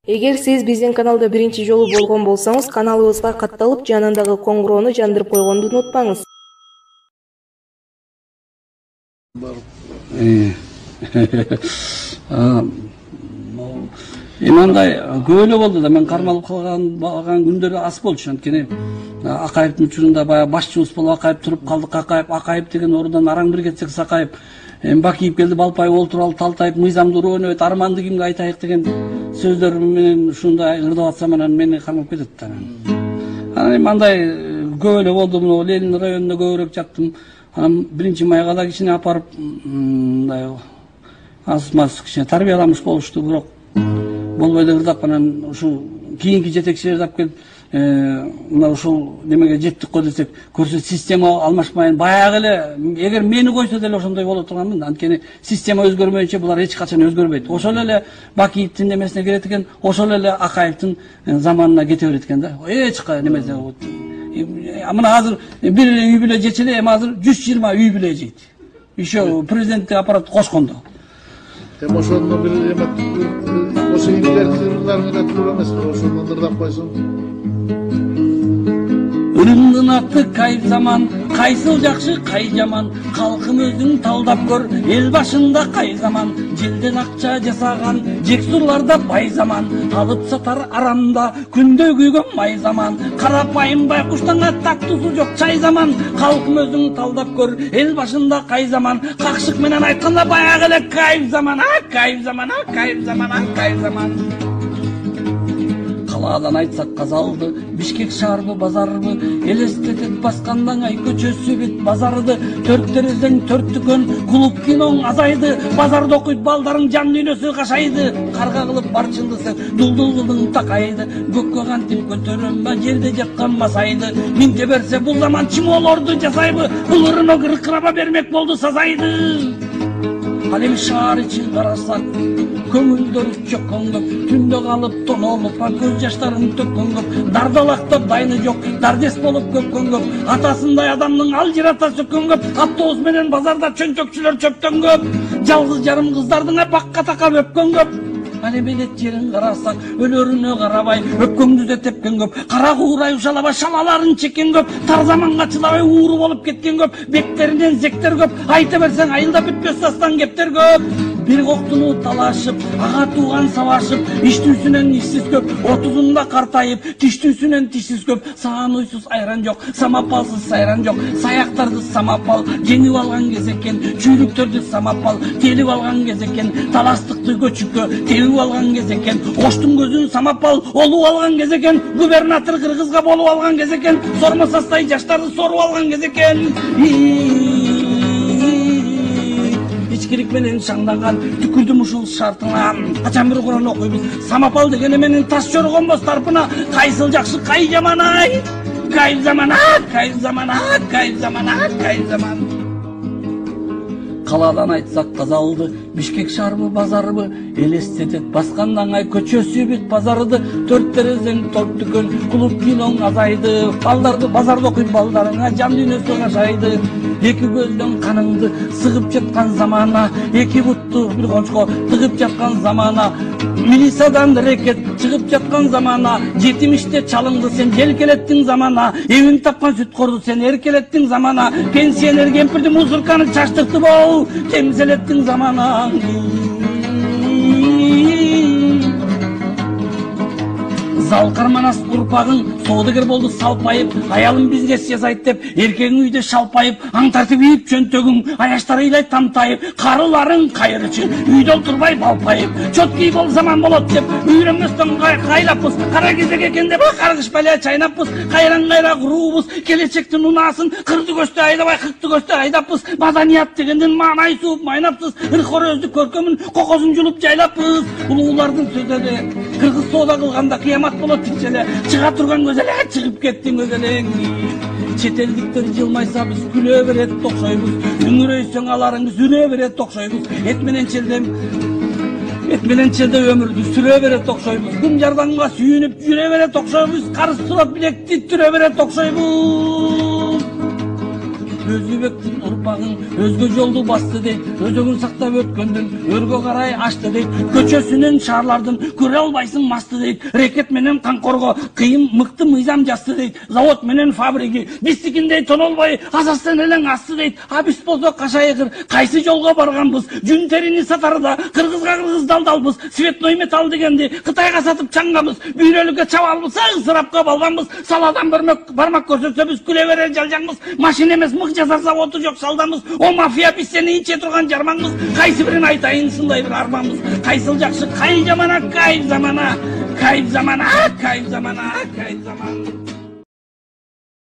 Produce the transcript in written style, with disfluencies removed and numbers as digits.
Эгер сиз биздин каналда биринчи жолу болгон болсоңуз, каналыбызга катталып, жанындагы коңгуроону жандырып койгонду унутпаңыз. Мындай көп эле болду да, мен кармалып калган күндөр аз болчу. Анткени Акаевдин учурунда баягы башчыбыз болуп Акаев туруп калдык. Акаев деген орундан араң бир кетсек Сакаев, Бакиев келди, Балпаев олтуруп алып, Талтаев мыйзамды урөөнөбөйт, арманды кимге айтайык деген сөздөр менен ушундай ырдап атсам, анан мени кармап кетет да. Анан мындай көп эле болду. Мына Ленин районунда көбүрөөк жаттым. Анан 1-майга да кичине апарып, мындай аз-маз кичине тарбияламыш болушту, бирок болбой эле ырдап, анан ушул кийинки жетекчилерди алып келип, мына ушул немеге жеттик го десек, көрсө система алмашпайын, баягы эле эгер мени койсо деле ошондой боло турганмын. Анткени система өзгөрмөйүнчө булар эч качан өзгөрбөйт. Ошол эле Бакиевдин немесине келет экен, ошол эле Акаевдин заманына кете берет экен да. Эч немесе. Мына азыр бир үй бүлө жечеле, эми азыр 120 үй бүлө жейт. Еще президенттик аппарат кошкондо. Ошондо бир ошо индердилерге туура эмес, ошондо ырдап койсоң. Ырымдын аты кайф заман, кайсыл жакшы, кай жаман, калкым өзүң талдап көр, эл башында кай заман, желден акча жасаган, жексурларда бай заман, алып сатар арамда, күндө күйгөн май заман, карапайым байкуштанга тактуусу жок чай заман, калкым өзүң талдап көр, эл башында кай заман, какшык менен айтканда баягы эле кайф заман, кайф заман, кайф заман, кайф заман. Калаадан айтсак казалды, Бишкек шаарбы, базарбы, элестетет баскандан ай көчөсү бүт базарды, төрт терезең төрт дүкөн, клуб киноң азайды, базарда окуйт балдарың жан дүйнөсү кашайды, карга кылып барчылдысың, дулдул кылдың такайды, көккө кантип көтөрөмбө, жерде жаткан масайды, минте берсе бул заман чимоолорду жасайбы, бул ырыно кыркыраба бермек болду сазайды. Ал эми шаар ичин карасак, көңүлдөр чөккөнгөп, түндө калып тонолуп, көз жаштарын төккөнгөп, дардалактап дайны жок, дардес болуп көпкөнгөп, атасындай адамдын алжырата сөккөнгөп, автобус менен базарда чөнчөкчүлөр чөптөнгөп, жалгыз жарым кыздардын бакка такап өпкөнгөп. Ал эми элет жерин карасак, өлөрүнө карабай, өпкөңдү да тепкөнгөп, кара куурай ушалабай шалаларын чеккен көп, тар заманга чыдабай ууру болуп кеткен көп, бектеринен зектер көп, айта берсең айылда бүтпөс дастан кептер көп. Бир коктуну талашып, ага тууган сабашып, иштүүсүнөн ишсиз көп, 30-unda картайып, тиштүүсүнөн тишсиз көп, саан уйсуз айран жок, самапалсыз сайран жок, саяктарды самапал, жеңип алган кез экен, чүйлүктөрдү самапал, телип алган кез экен, таластыкты көчүккө тебип алган кез экен, оштун көзүн самапал, олуп алган кез экен, губернатор кыргызга болуп алган кез экен, сормо састай жаштарды соруп алган кез экен. Ичкирик менен шаңданган түкүрдүм ушул шартына, качан бир Куран окуйбуз, самапал деген менен таш жоргонбос тарпына, кайсыл жакшы кай жаман ай, кайф заман, кайф заман, кайф заман, кайф заман. Калаадан айтсак казалды, Бишкек шаарбы, базарбы, элестетет баскандан ай көчөсү бүт базарды, төрт терезең төрт дүкөн, клуб киноң азайды, балдарды базарда окуйт балдарыңа жан дүйнөсү кашайды. Эки көздөн каныңды сыгып жаткан замана, эки бутту бир кончко тыгып жаткан замана, милициядан рекет чыгып жаткан замана, жетимиште чалыңды сен желкелеттиң замана, эвин тапкан сүткорду сен эркелеттиң замана, пенсионер кемпирди музырканы чаштыкты бол, темселеттиң замана. Залкарманас урпагың соодагер болду салпайып, аялым бизнес жасайт деп, эркегиң үйдө шалпайып, аң тартып ийип чөнтөгүң, аяштары ыйлай тамтайып, карыларың кайрычы, үйдө олтурбай балпайып, чоткий бол заман болот деп, үйрөнмөстөн кайлаппыз, кара кезек экен деп, каргыш балия чайнаппыз, кайран-кайра куруубуз, келечектин унаасын, кырды көстө айдабай, кыкты көстө айдаппыз, маданият дегенден маанай сууп майнаппыз, ыркорөздү көркөмүн, кокосун жулуп жайлаппыз, улуулардын сөзүлө, кыргыз соода кылганда кыямат болот тикчеле, чыга турган көз эле, чыгып кеттиң өз элең. Чет элдиктер жылмайса биз күлө берет окшойбуз, үңүрөйсөң аларыңыз үрө берет окшойбуз, эт менен челде өмүрдү сүрө берет окшойбуз, кум жардамга сүйүнүп жүрө берет окшойбуз, карыз сурап билекти түрө берет окшойбуз. Өзүбектин урпагың өзгө жолду басты дейт, өзөгүн сактап өткөндүн өргө карай ачты дейт, көчөсүнөн шаарлардын көрө албайсың масты дейт, рекет менен канкорго кыйын мыкты мыйзам жазды дейт, завод менен фабрики биздикиндей тонолбой азастан элең асты дейт. А биз болсо кашайгыр кайсы жолго барганбыз, жүн терини сатарда кыргызга кыргыз далдалбыз, цветной металл дегенди Кытайга сатып чаңгабыз, бүйрөлүккө чабалбыз, ысырапка балганбыз, саладан бармак көрсөтсө биз күлө берер жалжаңбыз, машина эмес мык жасар заводу жок салдамыз, о мафия биз сени иче турган жармаңбыз, кайсы бирин айтайын сындай бир арманбыз, кайсыл жакшы кайыл жамана, кайып замана, кайып замана, кайып замана, кайып замана.